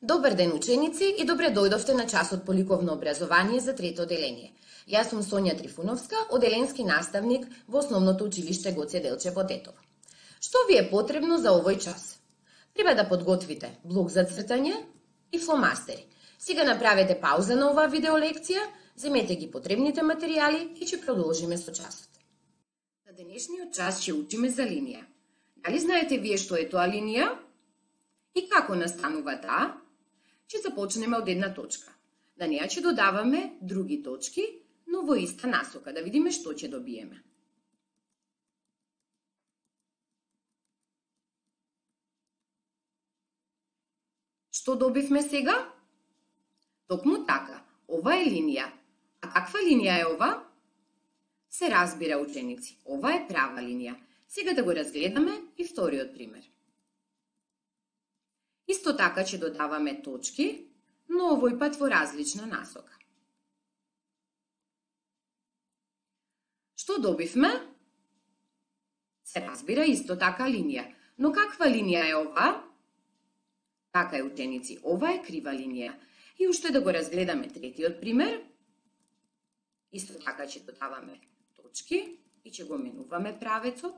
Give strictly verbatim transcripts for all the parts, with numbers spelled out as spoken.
Добар ден, ученици, и добре дојдовте на часот по ликовно образование за трето одделение. Јас сум Сонја Трифуновска, одделенски наставник во Основното училиште Гоце Делчево Тетово. Што ви е потребно за овој час? Треба да подготвите блок за цртање и фломастери. Сега направете пауза на оваа видеолекција, земете ги потребните материјали и ќе продолжиме со часот. На денешниот час ќе учиме за линија. Дали знаете вие што е тоа линија? И како настанува таа? Ќе започнеме од една точка. На неја ќе додаваме други точки, но во иста насока, да видиме што ќе добиеме. Што добивме сега? Токму така, ова е линија. А каква линија е ова? Се разбира, ученици, ова е права линија. Сега да го разгледаме и вториот пример. Исто така ќе додаваме точки, но овој пат во различна насока. Што добивме? Се разбира, исто така линија. Но каква линија е ова? Така е, ученици, ова е крива линија. И уште да го разгледаме третиот пример. Исто така ќе додаваме точки и ќе го менуваме правецот.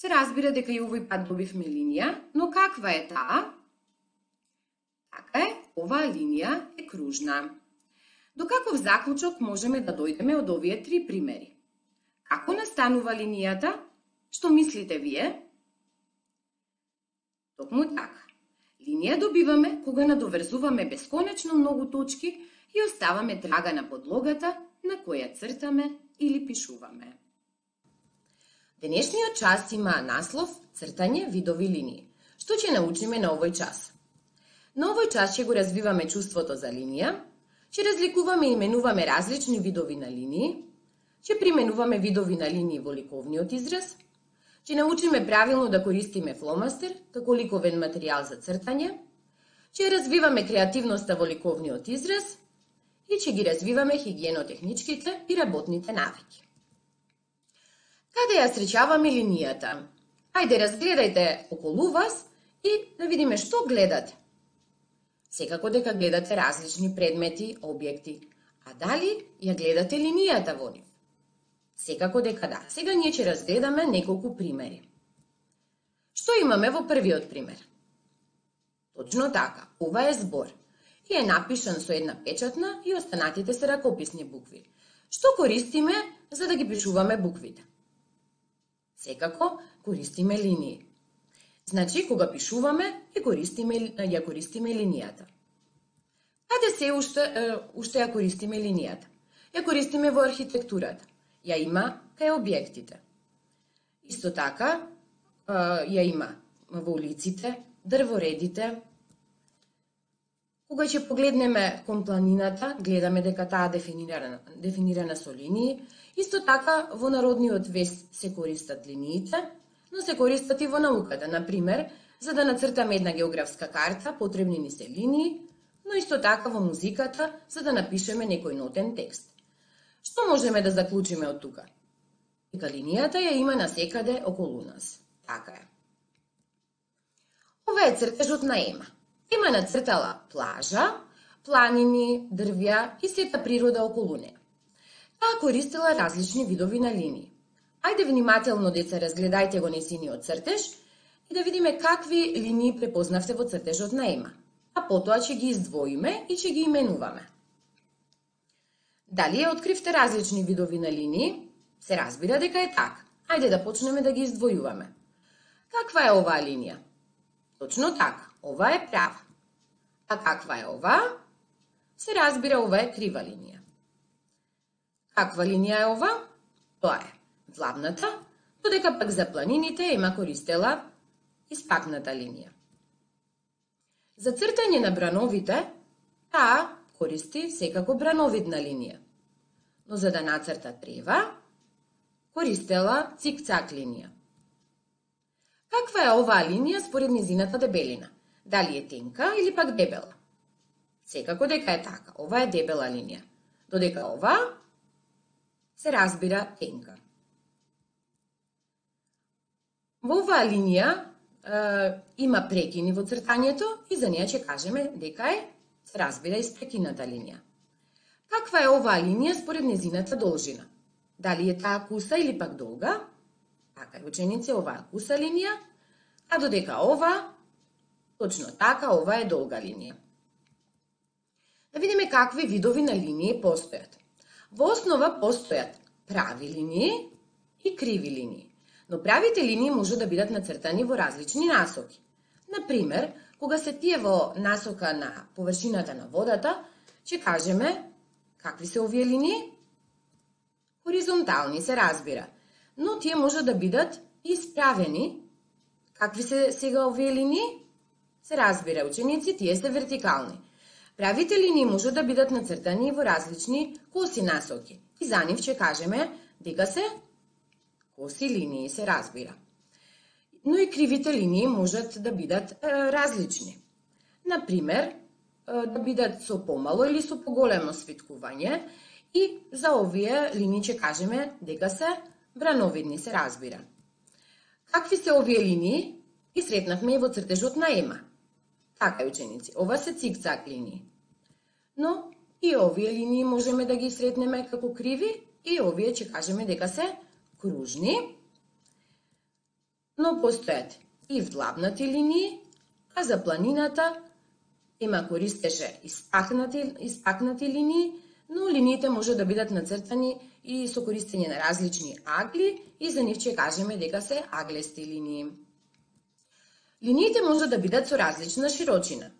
Се разбира дека и овој пат добивме линија, но каква е таа? Така е, оваа линија е кружна. До каков заклучок можеме да дојдеме од овие три примери? Како настанува линијата? Што мислите вие? Токму така. Линија добиваме кога надоврзуваме бесконечно многу точки и оставаме трага на подлогата на која цртаме или пишуваме. Денешниот час има наслов Цртање видови линии. Што ќе научиме на овој час? На овој час ќе го развиваме чувството за линија, ќе разликуваме и именуваме различни видови на линии, ќе применуваме видови на линии во ликовниот израз, ќе научиме правилно да користиме фломастер како ликовен материјал за цртање, ќе развиваме креативноста во ликовниот израз и ќе ги развиваме хигиенотехничките и работните навики. Каде ја среќаваме линијата? Ајде, разгледајте околу вас и да видиме што гледате. Секако дека гледате различни предмети, објекти. А дали ја гледате линијата во нив? Секако дека да. Сега ние ќе разгледаме неколку примери. Што имаме во првиот пример? Точно така, ова е збор. И е напишан со една печатна и останатите се ракописни букви. Што користиме за да ги пишуваме буквите? Секако користиме линии. Значи, кога пишуваме, ја користиме, ја користиме линијата. Каде се уште, уште ја користиме линијата? Ја користиме во архитектурата. Ја има кај објектите. Исто така, ја има во улиците, дрворедите. Кога ќе погледнеме кон планината, гледаме дека таа дефинирана, дефинирана со линии. Исто така, во народниот вест се користат линиите, но се користат и во науката. Например, за да нацртаме една географска карта, потребни ни се линии, но исто така во музиката, за да напишеме некој нотен текст. Што можеме да заклучиме од тука? Дека линијата ја има насекаде околу нас. Така е. Ова е цртежот на Ема. Ема нацртала плажа, планини, дрвја и сета природа околу неа. Таа користела различни видови на линии. Ајде внимателно, деца, разгледајте го несиниот цртеж и да видиме какви линии препознавте во цртежот на Ема. А потоа ќе ги издвоиме и ќе ги именуваме. Дали ја откривте различни видови на линии? Се разбира дека е така. Ајде да почнеме да ги издвојуваме. Каква е оваа линија? Точно така, ова е права. А каква е ова? Се разбира, ова е крива линија. Каква линија е ова? Тоа е влавната, додека пак за планините Ема користела испакната линија. За цртање на брановите, таа користи секако брановидна линија. Но за да нацрта трева, користела цик-цак линија. Каква е оваа линија според низината дебелина? Дали е тенка или пак дебела? Секако дека е така, ова е дебела линија, додека ова се разбира тенка. Во оваа линија е, има прекини во цртањето и за неја ќе кажеме дека е, се разбира, испрекината линија. Каква е оваа линија според незината должина? Дали е таа куса или пак долга? Така е, ученици, оваа е куса линија, а додека ова, точно така, ова е долга линија. Да видиме какви видови на линии постојат. Во основа постојат прави линии и криви линии. Но правите линии може да бидат нацртани во различни насоки. Например, кога се тие во насока на површината на водата, ќе кажеме какви се овие линии? Хоризонтални, се разбира. Но тие може да бидат исправени. Какви се сега овие линии? Се разбира, ученици, тие се вертикални. Правите линии може да бидат нацртани во различни коси насоки. И за нив ќе кажеме дека се коси линии, се разбира. Но и кривите линии можат да бидат е, различни. Например, е, да бидат со помало или со поголемо свиткување и за овие линии ќе кажеме дека се брановидни, се разбира. Какви се овие линии? Ги сретнавме и во цртежот на Ема. Така, ученици, ова се цикцак линии. Но и овие линии можеме да ги сретнеме како криви и овие ќе кажеме дека се кружни. Но постојат и вдлабнати линии, а за планината Ема користеше испакнати, испакнати линии, но линиите може да бидат нацртани и со користење на различни агли и за нив ќе кажеме дека се аглести линии. Линиите може да бидат со различна широчина.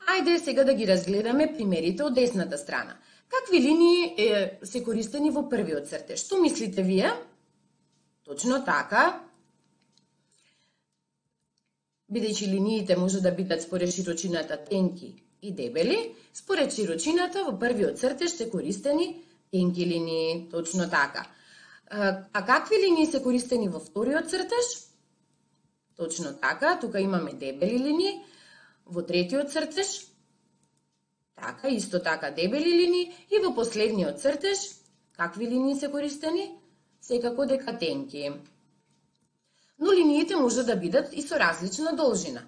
Ајде сега да ги разгледаме примерите од десната страна. Какви линии е, се користени во првиот цртеж? Што мислите вие? Точно така. Бидејќи линиите може да бидат според широчината тенки и дебели, според широчината во првиот цртеж се користени тенки линии, точно така. А какви линии се користени во вториот цртеж? Точно така, тука имаме дебели линии. Во третиот цртеж, така, исто така дебели линии. И во последниот цртеж, какви линии се користени? Секако дека тенки. Но линиите може да бидат и со различна должина.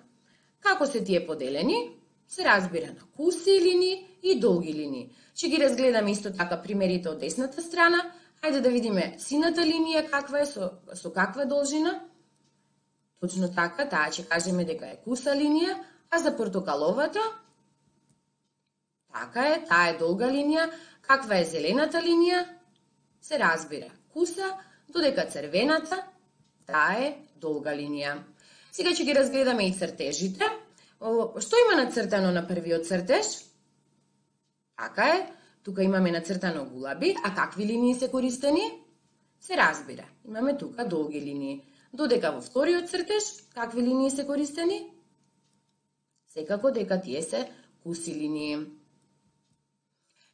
Како се тие поделени? Се разбира на куси линии и долги линии. Ќе ги разгледаме исто така примерите од десната страна. Ајде да видиме сината линија каква е, со, со каква должина. Точно така, таа ќе кажеме дека е куса линија, а за портокаловата, така е, таа е долга линија. Каква е зелената линија? Се разбира, куса, додека црвената, таа е долга линија. Сега ќе ги разгледаме и цртежите. Што има нацртано на првиот цртеж? Така е, тука имаме нацртано гулаби, а какви линии се користени? Се разбира, имаме тука долги линии. Додека во вториот цртеж, какви линии се користени? Секако дека тие се куси линии.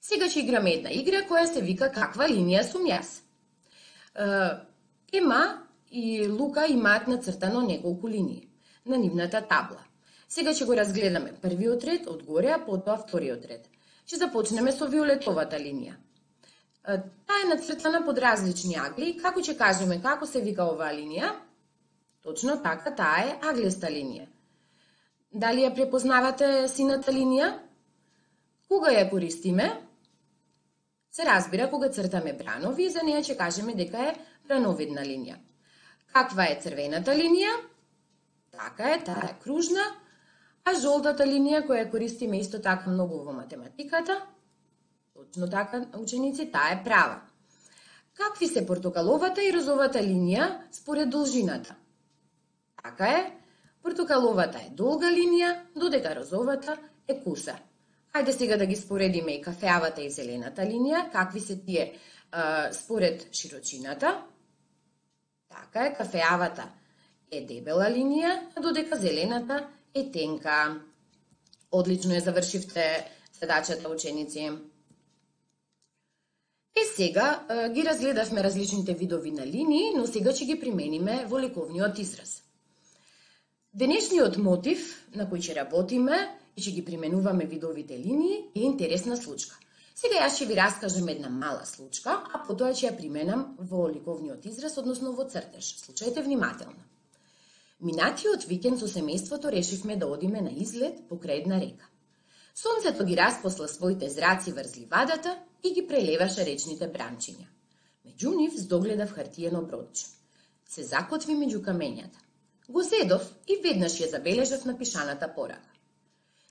Сега ќе играме една игра која се вика каква линија сум јас. Ема и Лука имаат нацртано неколку линии на нивната табла. Сега ќе го разгледаме првиот ред од горе, а потоа вториот ред. Ќе започнеме со виолетовата линија. Таа е нацртана под различни агли. Како ќе кажеме како се вика оваа линија? Точно така, таа е аглеста линија. Дали ја препознавате сината линија? Кога ја користиме? Се разбира кога цртаме бранови, за неја ќе кажеме дека е брановидна линија. Каква е црвената линија? Така е, таа е кружна, а жолтата линија која користиме исто така многу во математиката, точно така, ученици, таа е права. Какви се портокаловата и розовата линија според должината? Така е, портокаловата е долга линија, додека розовата е куса. Хајде сега да ги споредиме и кафеавата и зелената линија, какви се тие а, според широчината. Така е, кафеавата е дебела линија, додека зелената е тенка. Одлично ја завршивте задачата, ученици. Е сега а, ги разгледавме различните видови на линии, но сега ќе ги примениме во ликовниот израз. Денешниот мотив на кој ќе работиме и ќе ги применуваме видовите линии е интересна случка. Сега јас ќе ви раскажам една мала случка, а потоа ќе ја применам во ликовниот израз, односно во цртеж. Слушајте внимателно. Минатиот викенд со семејството решивме да одиме на излет покрај една река. Сонцето ги распосла своите зраци врз ливадата и ги прелеваше речните бранчиња. Меѓу нив здогледав хартиено бродче. Се закотви меѓу камењата. Го зедов и веднаш ја забележав напишаната порака.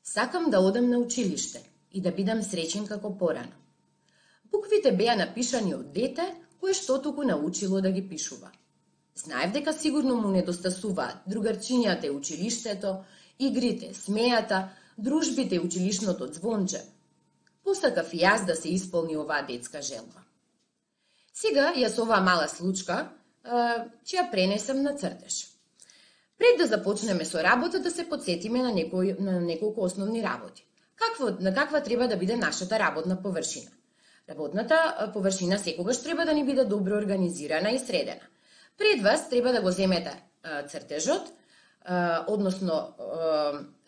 Сакам да одам на училиште и да бидам среќен како порано. Буквите беа напишани од дете кое што туку научило да ги пишува. Знаев дека сигурно му недостасуваат другарчињата и училиштето, игрите, смејата, дружбите и училишното звонче. Посакав и јас да се исполни оваа детска желба. Сега ја со оваа мала случка ќе ја пренесам на цртеж. Пред да започнеме со работа, да се подсетиме на, некој, на неколку основни работи. Какво, на каква треба да биде нашата работна површина? Работната површина секогаш треба да ни биде добро организирана и средена. Пред вас треба да го земете цртежот, односно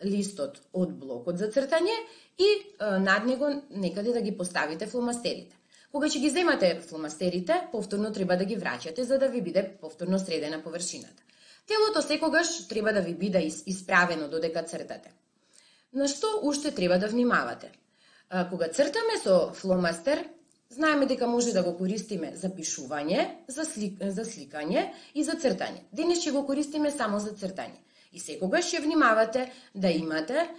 листот од блокот за цртање и над него некаде да ги поставите фломастерите. Кога ќе ги земате фломастерите, повторно треба да ги враќате за да ви биде повторно средена површината. Телото секогаш треба да ви биде исправено додека цртате. На што уште треба да внимавате? Кога цртаме со фломастер, знаеме дека може да го користиме за пишување, за, слик, за сликање и за цртање. Денес ќе го користиме само за цртање. И секогаш ќе внимавате да имате е,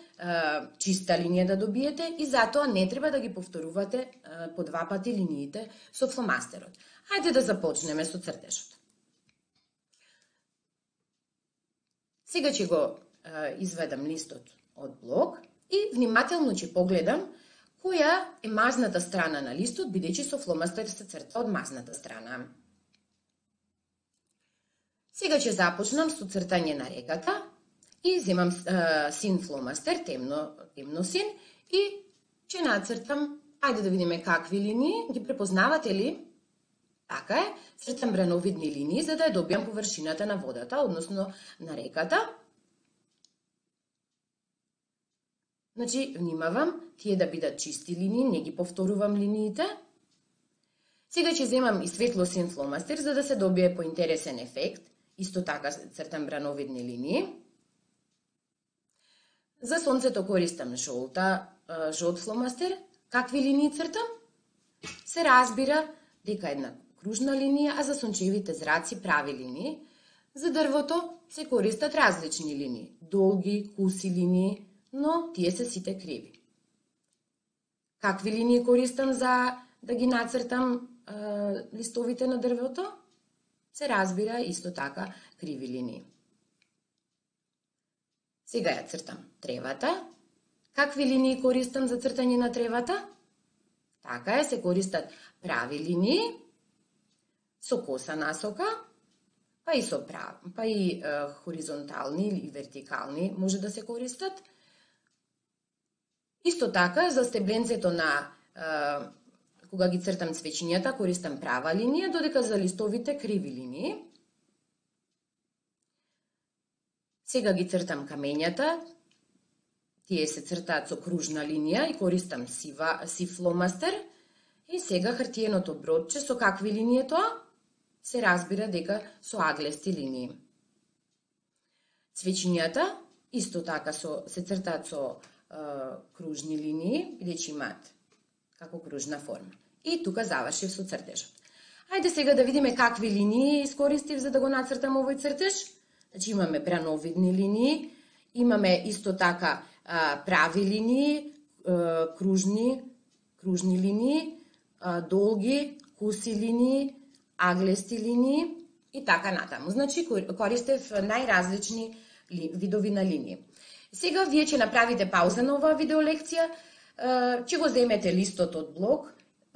чиста линија да добиете и затоа не треба да ги повторувате е, по два пати линиите со фломастерот. Хајде да започнеме со цртежот. Сега ќе го е, изведам листот од блок и внимателно ќе погледам која е мазната страна на листот, бидејќи со фломастер се црта од мазната страна. Сега ќе започнам со цртање на реката и земам е, син фломастер, темно, темно син, и ќе нацртам, ајде да видиме какви линии, ги препознавате ли? Така е, цртам брановидни линии за да ја добијам површината на водата, односно на реката. Значи, внимавам, тие да бидат чисти линии, не ги повторувам линиите. Сега ќе земам и светлосин фломастер за да се добие поинтересен ефект. Исто така цртам брановидни линии. За сонцето користам жолта, жолт фломастер. Какви линии цртам? Се разбира дека една кружна линија, а за сончевите зраци прави линии. За дрвото се користат различни линии, долги, куси линии, но тие се сите криви. Какви линии користам за да ги нацртам е, листовите на дрвото? Се разбира исто така криви линии. Сега ја цртам тревата. Какви линии користам за цртање на тревата? Така е, се користат прави линии со коса насока, па и со прав, па и е, хоризонтални или вертикални може да се користат. Исто така, за стебленцето на, е, кога ги цртам цвечињата, користам права линија, додека за листовите криви линии. Сега ги цртам камењата, тие се цртаат со кружна линија и користам сива, сив фломастер. И сега хартиеното бродче, со какви линии е тоа? Се разбира дека со аглести линии. Цвечињата, исто така со, се цртаат со кружни линии, бидејќи имаат како кружна форма. И тука завршив со цртежот. Ајде сега да видиме какви линии искористив за да го нацртам овој цртеж. Значи имаме брановидни линии, имаме исто така а, прави линии, а, кружни, кружни линии, а, долги, куси линии, аглести линии и така натаму. Значи користев најразлични видови на линии. Сега вие ќе направите пауза на оваа видеолекција, ќе го земете листот од блок,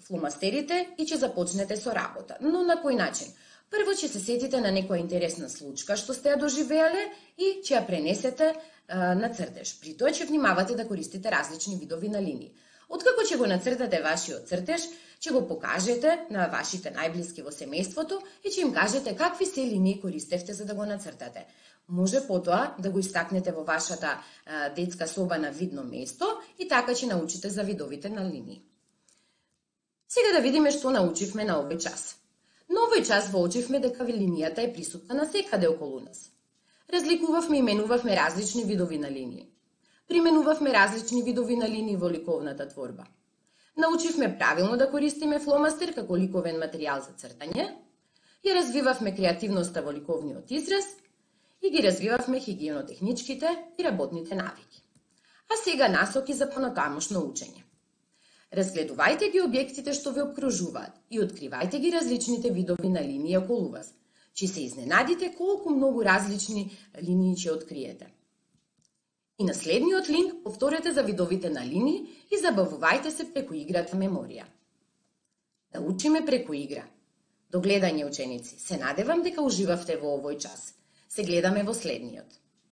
фломастерите и ќе започнете со работа. Но на кој начин? Прво ќе се сетите на некоја интересна случка што сте ја доживеале и ќе ја пренесете на цртеж. При тоа ќе внимавате да користите различни видови на линии. Откако ќе го нацртате вашиот цртеж, ќе го покажете на вашите најблиски во семејството и ќе им кажете какви се линии користевте за да го нацртате. Може потоа да го истакнете во вашата а, детска соба на видно место и така ќе научите за видовите на линии. Сега да видиме што научивме на овој час. На овој час воочивме дека линијата е присутна на секаде околу нас. Разликувавме и менувавме различни видови на линии. Применувавме различни видови на линии во ликовната творба. Научивме правилно да користиме фломастер како ликовен материјал за цртање, ја развивавме креативноста во ликовниот израз и ги развивавме хигиенотехничките и работните навики. А сега насоки за понатамошно учење. Разгледувајте ги објектите што ве обкружуваат и откривајте ги различните видови на линии околу вас. Ќе се изненадите колку многу различни линии ќе откриете. И на следниот линк повторете за видовите на линии и забавувајте се преку играта меморија. Да учиме преку игра. До гледање, ученици. Се надевам дека уживавте во овој час. Се гледаме во следниот.